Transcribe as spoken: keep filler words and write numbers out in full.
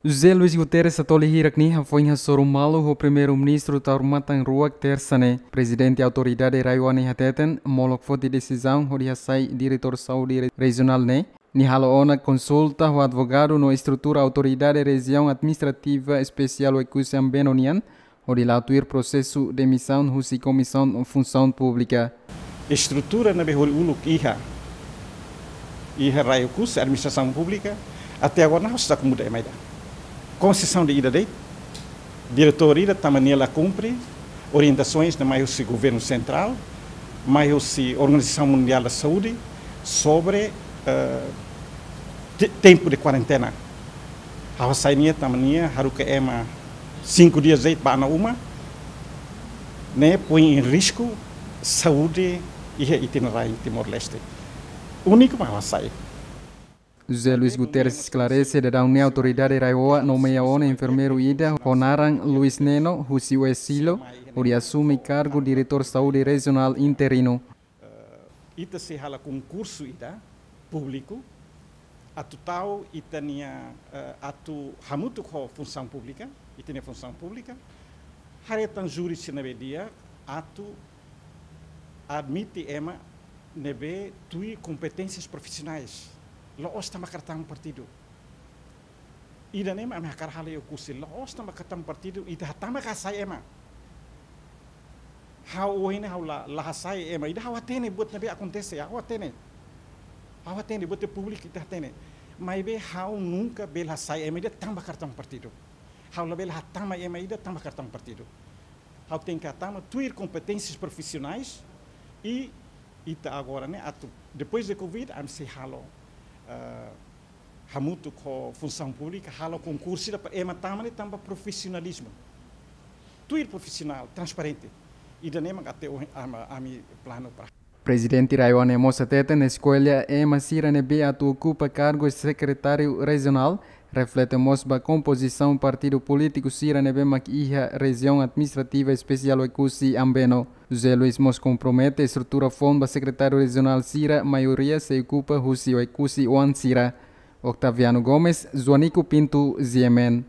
José Luis Guterres Atoli hirak-ne'e hafoin hasoru malu ho Primeiru-Ministru Taur Matan Ruak Tersa ne'e. Prezidente Autoridade RAEOA ne'e hateten, molok foti desizaun hodi hasai diretór saúde re-, rejionál ne'e, nia halo ona konsulta ho advogadu no estrutura Autoridade Rejiaun Administrativa Espesiál Oekusi Ambeno nian, hodi la'o tuir prosesu demisaun husi Komisaun Funsaun Públika. Estrutura ne'ebé hori uluk iha, iha RAEOA Oekusi, Administrasaun Públika, até agora nahos tak muda ema ida. Konseisaun de ida de'it, diretór ida tama nia la kumpre orientasoens ne'ebé mai husi Governu Sentrál, mai husi Organizasaun Mundiál da Saúde, sobre, eh, te-, tempu de kuarentena. Ha'u hasai nia tama nia haruka ema sinku dias de'it ba ona uma, ne'e poi em risku saúde iha ita-nia rain Timor-Leste. Úniku mak ha'u hasai. José Luis Guterres esklarese, daudaun ne'e Autoridade RAEOA nomeia ona enfermeiru ida ho naran Luis Neno, husi Oesilo, hodi asume kargu diretór saúde rejionál interinu. Eh, ita sei halo konkursu ida públiku, atu tau ita-nia, eh, atu hamutuk ho Funsaun Públika, ita-nia Funsaun Públika, haree tan júri sira ne'ebé di'ak, atu admite ema ne'ebé tuir kompeténsias profisionais, la'ós tanba kartaun partidu. Ida-ne'e mak ami hakarak halo iha Oekusi, la'ós tanba kartaun partidu, ita hatama ka hasai ema. Ha'u ohin ne'e ha'u la, la hasai ema, ida ha'u hatene buat ne'ebé akontese, ha'u hatene. Ha'u hatene, buat públiku ita hatene. Maibé ha'u nunka bele hasai ema ida tanba kartaun partidu. Ha'u labele hatama ema ida tanba kartaun partidu. Ha'u tenke hatama tuir kompeténsias profisionais i ita agora ne'e atu, depois de covid, ami sei halo, eh, hamutuk ho Funsaun Públika, halo konkursu ida para ema tama ne'e tanba profisionalizmu. Tuir profisionál, transparente. Ida-ne'e mak até ohin ami, ami planu para. Prezidente RAEOA ne'e mós hateten, eskolla ema sira ne'ebé atu okupa kargu sekretáriu rejionál reflete mós ba kompozisaun partidu polítiku sira ne'ebé mak iha Rejiaun Administrativa Espesiál Oekusi Ambeno. José Luis mós kompromete estrutura foun ba sekretáriu rejionál sira, maioria sei okupa husi Oekusi oan sira. Octaviano Gomes, Joanico Pinto, G M N.